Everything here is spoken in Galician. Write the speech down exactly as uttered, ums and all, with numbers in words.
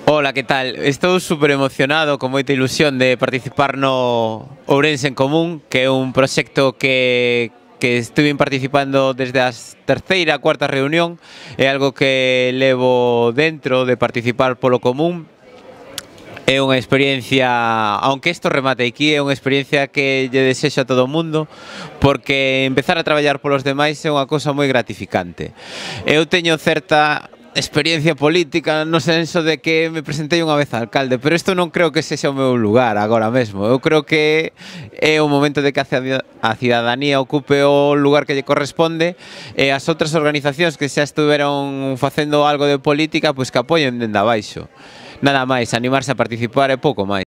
Ola, que tal? Estou super emocionado, con moita ilusión de participar no Ourense en Común, que é un proxecto que que estuve participando desde a terceira, cuarta reunión. É algo que levo dentro de participar polo común. É unha experiencia, aunque isto remate aquí, é unha experiencia que lle desexo a todo o mundo, porque empezar a traballar polos demais é unha cousa moi gratificante. Eu teño certa experiencia política no senso de que me presentei unha vez a alcalde, pero isto non creo que sexa o meu lugar agora mesmo. Eu creo que é o momento de que a cidadanía ocupe o lugar que lle corresponde e as outras organizacións que xa estuveron facendo algo de política, pois que apoien dende abaixo. Nada máis, animarse a participar e pouco máis.